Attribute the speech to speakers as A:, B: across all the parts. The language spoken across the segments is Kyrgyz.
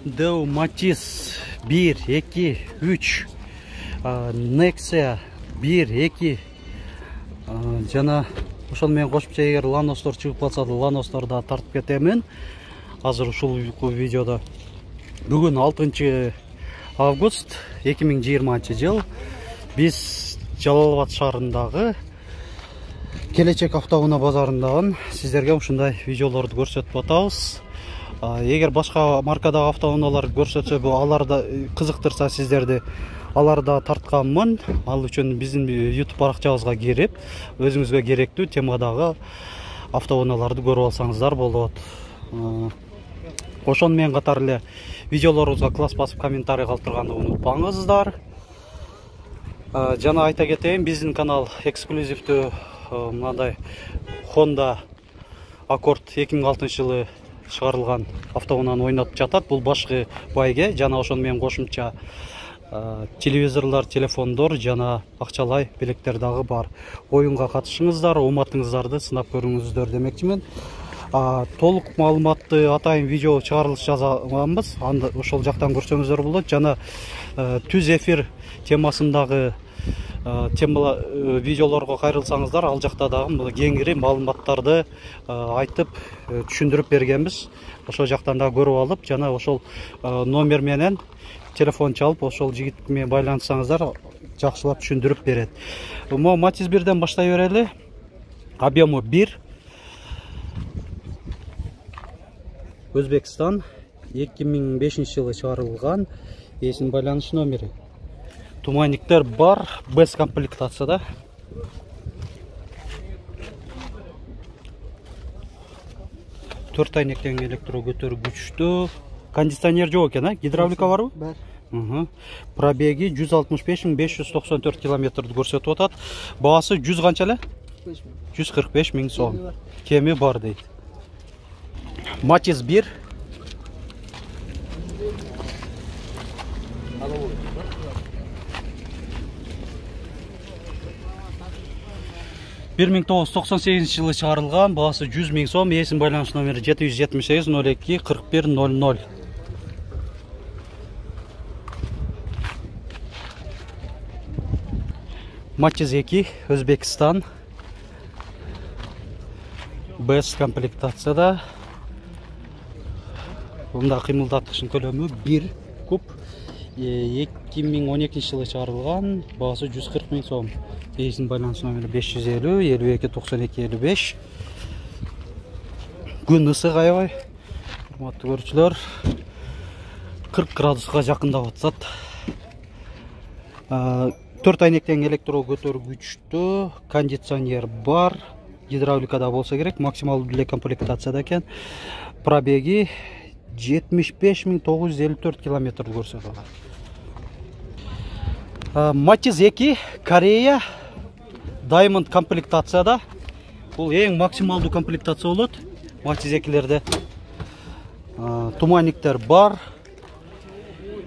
A: Deo Matiz 1, 2, 3, Nexia 1, 2, жана ошол менен кошумча эгер Lanos'тор чыгып калса да Lanos'торду да тартып кетемин. Азыр ушул видеодо бүгүн 6 август 2020 жыл биз Жалал-Абад шаарындагы Келечек автоунаа базарындагы сиздерге ушундай видеолорду көрсөтүп атабыз. Эгер башка маркадагы автоунаалар көрсөтсө, аларда кызыктырса сиздерди, аларда тартканмын. Ал үчүн биздин YouTube баракчабызга кирип, өзүңүзгө керектүү темадагы автоунааларды көрүп алсаңыздар болот. Ошону менен катар эле видеолорубузга класс басып комментарий калтырганды унутпаңыздар. Жана айта кетейин, биздин канал эксклюзивдүү мындай Honda Accord 2006 жылы чыгарылган автоунааны ойнотуп жатат. Бул башкы байге жана ошону менен кошумча телевизорлор, телефондор жана акчалай белектер дагы бар. Оюнга катышыңыздар, уматыңыздарды сынап көрүңүздөр демекчимин. Толук маалыматты атайын видео чыгарылыш жазганбыз. Анда ошол жактан көрсөңүздөр болот. Жана түз эфир темасындагы видеолорго кайрылсаңыздар, ал жакта дагы кеңири маалыматтарды айтып түшүндүрүп бергенбиз. Ошол жактан да көрүп алып, жана ошол номер менен телефон чалып, ошол жигит менен байланышсаңыздар, жакшылап түшүндүрүп берет. Matiz 1ден баштай берели. Объему 1. Өзбекстан 2005 жылы чыгарылган, эсин байланыш номери. Туманниктер бар, без комплектацияда. Төрт айнектен электро көтөргүчтүү. Кондиционер жок экен, гидравлика барбы? Бар. Пробеги 165.594 километрди көрсөтүп атат. Баасы 100 канча эле? 145 000 сом. Кеми бар дейт. Matiz 1. Bir 1998 жылы чыгарылган, баасы 100 000 сом, эсин байланыш номери 778 02 41 00. Matiz 2, Өзбекстан. Без комплектацияда. Бунда кыймылдаткычтын көлөмү 1 куб. 2012 жылы чыгарылган, баасы 140 000 сом. Эсин байланыш номери 550 52 92 55. Күн ысык аябай. Урматтуу көрүүчүлөр, 40 градуска жакындап атат. 4 айнектен электро көтөргүчтүү, кондиционер бар, гидравликада болсо керек, максималдуу эле комплектацияда экен. Пробеги 75.954 километрди көрсөтүп атат. Matiz 2, Корея, Diamond комплектацияда. Бул эң максималдуу комплектация болот Matiz 2лерде. Туманниктер бар.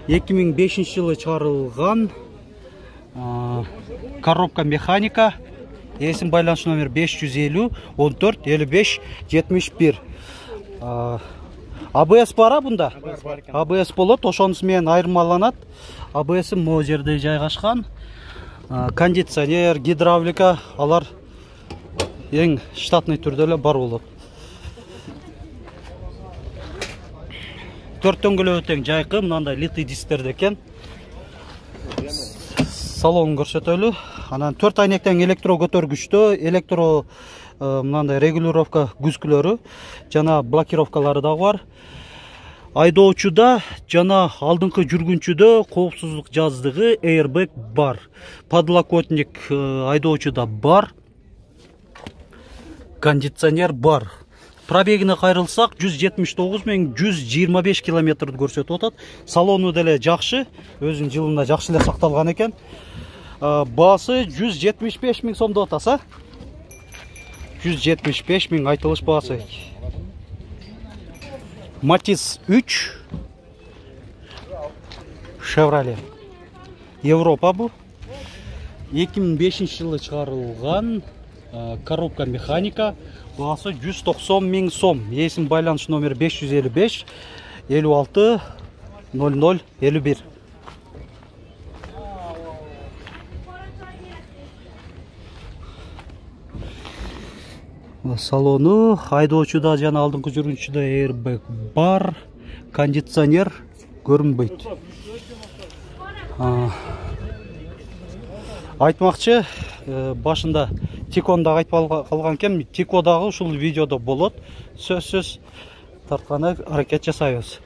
A: 2005 жылы чыгарылган. Коробка механика. Эсин байланыш номер 550 14 55 71. ABS бара бунда? ABS болот, ошонусу менен айырмаланат. ABS могу жерде жайгашкан. Кондиционер, гидравлика, алар эң штатный түрдө эле бар болот. Төрт дөңгөлөгү тең жайкы, мындай литый дисктерде экен. Салонун көрсөтөлү. Анан 4 айнектен электро көтөргүчтүү, электро мындай регулировка күзгүлөрү жана блокировкалары дагы бар. Айдоочуда жана алдыңкы жүргүнчүдө коопсуздук жаздыгы airbag бар. Подлокотник айдоочуда бар. Кондиционер бар. Пробегине кайрылсак 179.125 километрди көрсөтүп атат. Салону деле жакшы, өзүнүн жылында жакшы эле сакталган экен. Баасы 175 000 сом деп атаса. 175 000 айтылыш баасы. Matiz 3, Chevrolet. Европа бу. 2005 жылы чыгарылган, коробка механика. Баасы 190 000 сом. Эсин байланыш номери 555 56 0051. Салону айдоочуда жана алдыңкы жүргүнчүдө airbag бар, кондиционер көрүнбөйт. Айтмакчы, башында Тикондагы айтып калган экен, Тикодагы ушул видеодо болот. Сөзсүз тартканы аракет жасайбыз.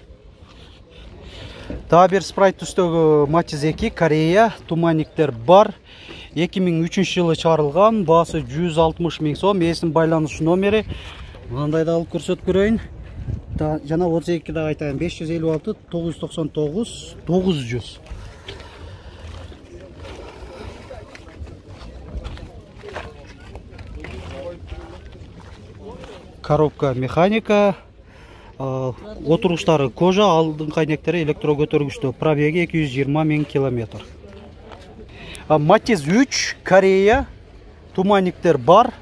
A: Дагы бир спрайт түстөгү Matiz 2 Корея, туманниктер бар. 2003 жылы чыгарылган, баасы 160 000 сом, эсин байланыш номери. Мындай да алып көрсөтүп көрөйүн. Жана 32 да айтайын, 556 999 900. Коробка механика, отуруштары кожа, алдыңкы айнектери электро көтөргүчтүү, пробеги 220 000 км. Matiz 3 Корея, туманниктер бар.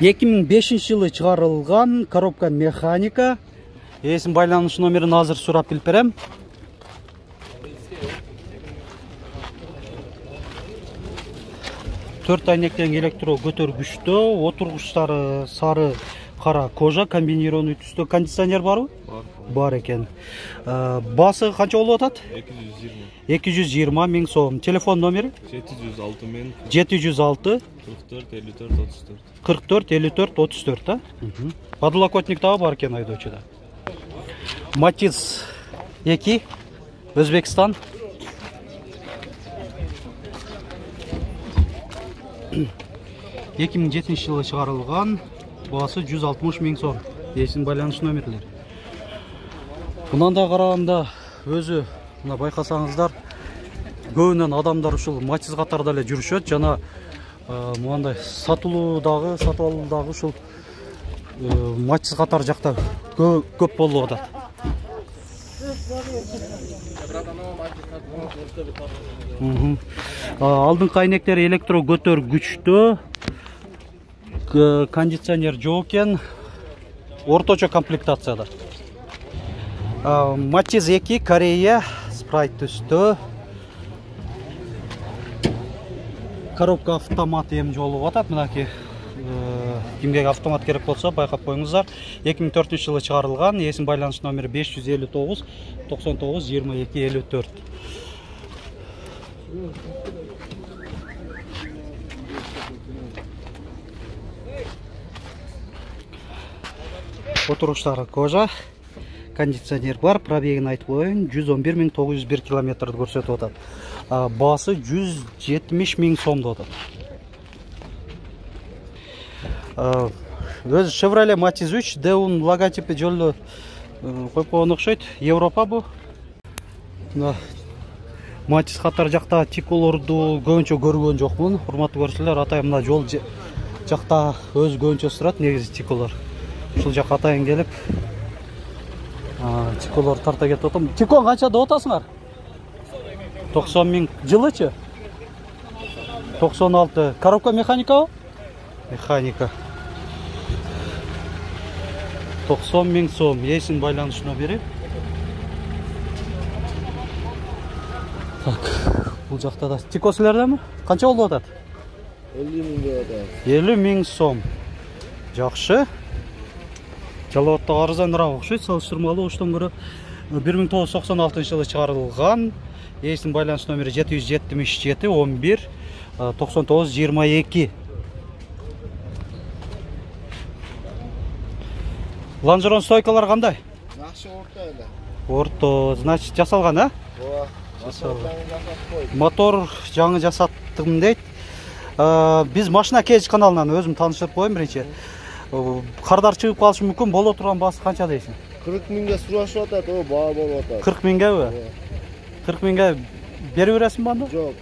A: 2005 жылы чыгарылган, коробка механика. Эсин байланыш номерин азыр сурап билип берем. Төрт айнектен электро көтөргүчтүү, отургучтары сары кара кожа, комбинированный түстө. Кондиционер барбы? Бар экен. Басы канча болуп атат? 220 000 сом. Телефон номери? 706 44 54 34. Подлокотник дагы бар экен айдоочуда. Matiz 2 Өзбекстан. 2007 жылы чыгарылган, баасы 160 000 сом. Эсин байланыш номерлери. Мындан да караганда өзү мына байкасаңыздар, көбүнөн адамдар ушул Matiz катарда эле жүрүшөт, жана мындай сатып алуудагы ушул Matiz катар жакта көп болуп атат. Алдыңкы айнектери электро көтөргүчтүү, кондиционер жок экен, орточо комплектацияда. Matiz 2 Корея, спрайт түстө. Коробка автомат эми болуп атат, мынакей. Кимге автомат керек болсо байкап коюңуздар. 2004 жылы чыгарылган, эсин байланыш номери 559 99 22 54. Отуруштары кожа, кондиционер бар, пробегин айтып коеюн, 111 901 километрди көрсөтүп атат. Баасы 170 000 сом деп атат. Өзү Chevrolet Matiz 3 Deun логотипи жолу коюп койгон окшойт. Европа бу. Matiz катар жакта Тиколорду көбүнчө көргөн жокмун. Урматтуу көрүүчүлөр, атайын мына жол жакта өз көбүнчө турат негизи Тиколор. Ушул жакка атайын келип Тиколор тарта кетип атам. Тикон канча деп атасыңар? 90 000 жылычы? 96. Коробка механикабы? Механика. 90 000 сом. Эсин байланыш номери. Так, бул жакта да Тико силердеби? Канча болуп атат?
B: 50 000 деп атат.
A: 50 000 сом. Жакшы. Жалоотто арзаныраак окшойт, салыштырмалуу. Оштон көрө 1996 жылы чыгарылган. Эсин байланыш номери 777 11 99 22. Лонжерон стойкалар кандай?
B: Жакшы, орто эле.
A: Орто, значит, жасалган, а?
B: Ооба.
A: Мотор жаңы жасаттым дейт. Биз машина кеж каналынан өзүм таныштырып коеюн биринчи. Кардар чыгып калышы мүмкүн, боло турган баасы канча дейсиң?
B: 40 000ге сурашып атат, о, баа болуп атат.
A: 40 000геби? 40 000ге берип бересиңби анда?
B: Жок,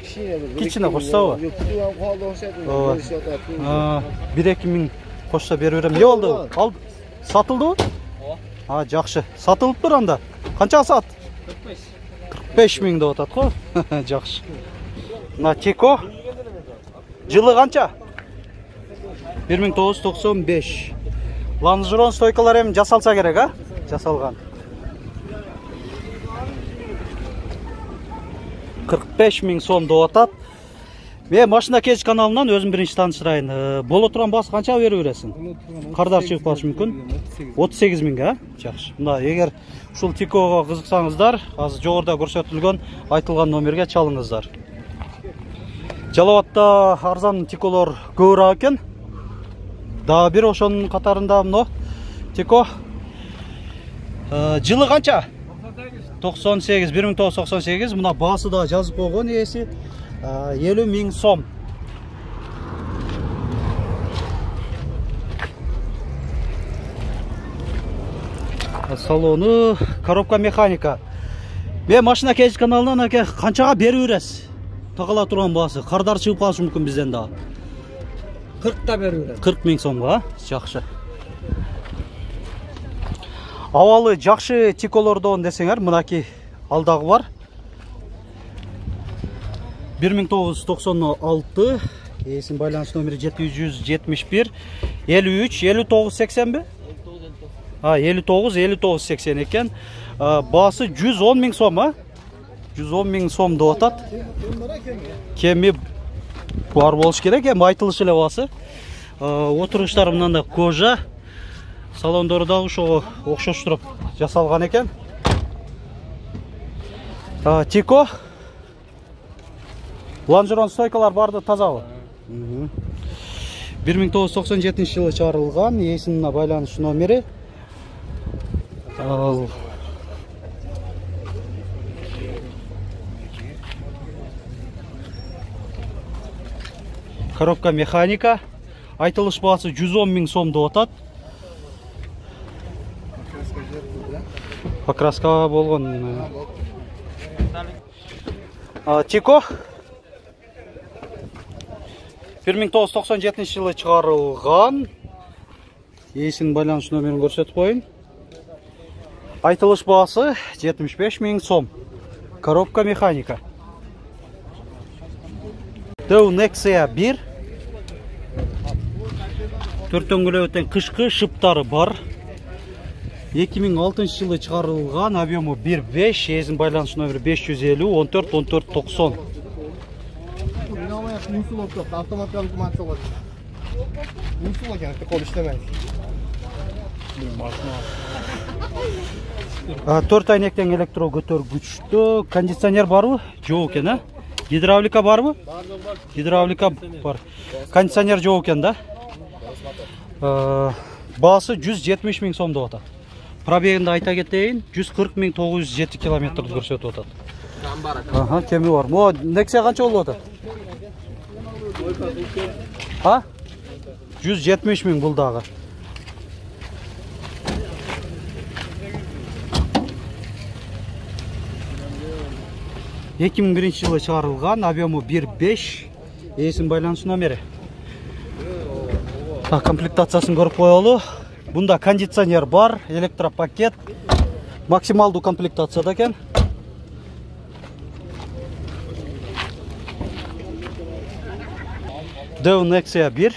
A: кичине кошсобу?
B: Жок, кутуган калды окшойт. Беришип атат.
A: 1-2 000 кошсо берип берем. Эмне болду? Ал сатылдыбы? Ооба. Жакшы. Сатылыптыр анда. Канчага сат? 45 000 деп атат го. Жакшы. Мына Тико. Жылы канча? 1995. Лонжерон стойкалар эми жасалса керек, а? Жасалган. 45 миң сом деп атат. Мен машина кеш каналынан өзүм биринчи таанышырайын. Боло турган баасы канчага берип бересиң? Кардар чыгып калышы мүмкүн. 38 миңге, жакшы. Мына эгер ушул Тикого кызыксаңыздар, азыр жогоруда көрсөтүлгөн айтылган номерге чалыңыздар. Жалал Абадта арзан Тиколор көбүрөөк экен. Дагы бир ошонун катарында мына Тико. Жылы канча? 98, 1998. Мына баасы да жазып койгон ээси 50 миң сом. Салону, коробка механика. Мен машина кеш каналынан аке канчага берип бересиз? Тагыла турган баасы, кардар чыгып калышы мүмкүн бизден да.
C: 40 берип берем.
A: 40 миң сомго, жакшы. Абалы жакшы Тиколордон десеңер, мынаки алдагы бар. 1996, эсин байланыш номери 771 53 59 80 бе? 59 59 80 экен. Баасы 110 миң сом, 110 миң сом деп атат. Кеми бар болуш керек, эми айтылышы эле баасы. Отуруштары мындай кожа. Салондору да ошого окшоштуруп жасалган экен. Тико. Лонжерон стойкалар барды тазабы? 1997 жылы чыгарылган, эсинин байланыш номери. Коробка механика. Айтылыш баасы 110 миң сом деп атат. Покраска болгон. Тико 1997 жылы чыгарылган. Эсинин байланыш номерин көрсөтүп коеюн. Айтылыш баасы 75 миң сом. Коробка механика. Deu Nexia 1. Төртөңгөлөбөтен кышкы шыптары бар. 2006 жылы чыгарылган, объему 1.5, эсин байланыш номери 550 14 14 90.
B: Автоматтан кумат болот. Мусул экен, кол иштебейт.
A: 4 айнектен электро көтөргүчтө, кондиционер барбы? Жок экен, Гидравлика барбы? Гидравлика бар. Кондиционер жок экен да. Баасы 170 миң сом деп атат. Пробегинде айта кетейин, 140 миң 907 километрди көрсөтүп атат. Кеми бар. Мо Nexia канча болуп атат? 170 миң бул дагы. Эки миң биринчи жылы чыгарылган, объему 1.5, эсин байланыш номери. Комплектациясын көрүп коелу. Бунда кондиционер бар, электропакет, максималдуу комплектацияда экен. Deu Nexia 1.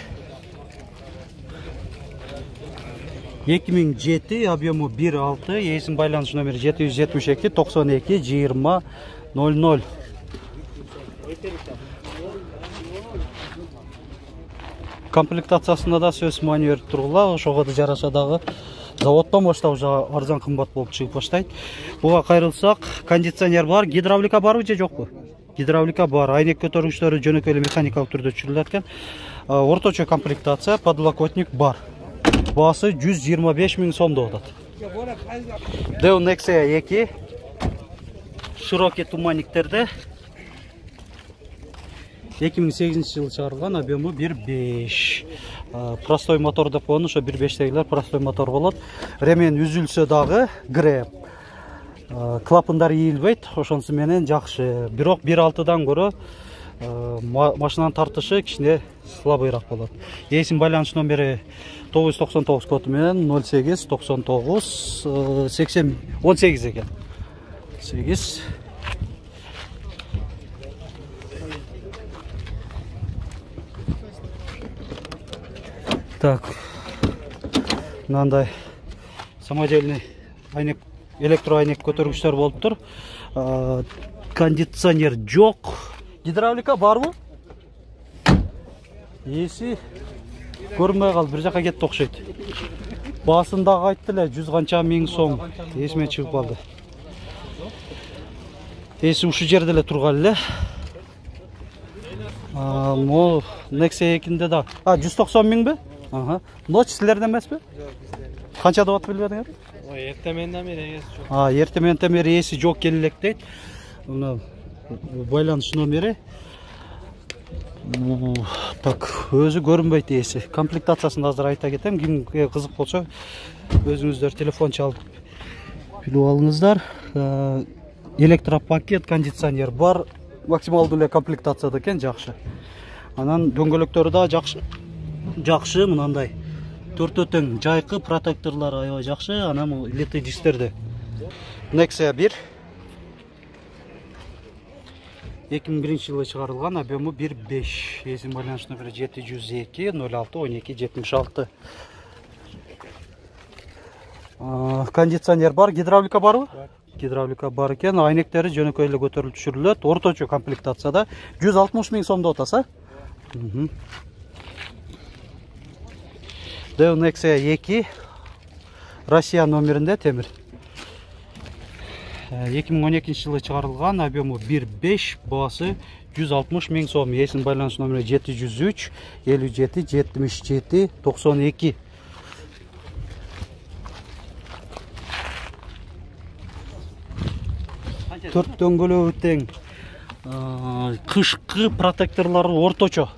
A: 2007, объему 1.6, эсин байланыш номери 772 92 20 00. Комплектациясында да сөз маневр тургула, ошого да жараша дагы. Заводдон баштап уже арзан кымбат болуп чыгып баштайт. Буга кайрылсак, кондиционер бар, гидравлика барбы же жокпу? Гидравлика бар, айнек көтөргүчтөрү жөнөкөй эле механикалык түрдө түшүрүлөт экен. Орточо комплектация, подлокотник бар. Баасы 125 миң сом деп атат. Deu Nexia 2. Широкий туманниктерде. 2008 жылы чыгарылган, объему 1.5. Простой мотор деп коюн, ошо 1.5тегилер простой мотор болот. Ремен үзүлсө дагы греп. Клапандар ийилбейт, ошонусу менен жакшы. Бирок 1.6дан көрө машинанын тартышы кичине слабыйраак болот. Эсин байланыш номери 999 коду менен 08 99 80 18 экен. 8. Так. Мындай самодельный айнек, электро айнек көтөргүчтөр болуп тур. кондиционер жок. Гидравлика барбы? Эси көрмөй калды, бир жака кетти окшойт. Басындагы айтты эле 100 канча миң сом. Эсиме чыгып калды. Эси ушу жерде эле турган эле. Могу Nexia 2-нде да. 190 миңби? Ночь силерде эмеспи? Канча деп атып билбедиңер?
C: Эртеменден бери эси жок.
A: Эртеменден бери эси жок келелек дейт. Мына байланыш номери. Так, өзү көрүнбөйт эси. Комплектациясын азыр айта кетем. Кимге кызык болсо, өзүңүздөр телефон чалып билип алыңыздар. Электропакет, кондиционер бар. Максималдуу эле комплектацияда экен, жакшы. Анан дөңгөлөктөрү да жакшы. Жакшы, мынандай. Төртөө тең жайкы, протекторлор аябай жакшы. Анан литый дисктерде. Nexia 1 2001-жылы чыгарылган, объему 1.5. Эсим байланыш номери 702 06 12 76. Кондиционер бар, гидравлика барбы? Гидравлика бар экен, айнектери жөнөкөй эле көтөрүлүп түшүрүлөт. Орточо комплектацияда 160 миң сом деп атаса. Nexia 2 Россия номеринде темир. 2012-жылы чыгарылган, объему 1.5, баасы 160 миң сом. Эсин байланыш номери 703 57 77 92. Төрт дөңгөлөбү тең. Кышкы протекторлору орточо.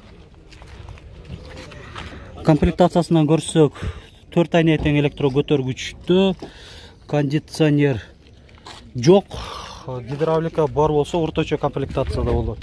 A: Комплектациясынан көрсөк, 4 айнек тең электро көтөргүчтүү, кондиционер жок, гидравлика бар болсо орточо комплектацияда болот.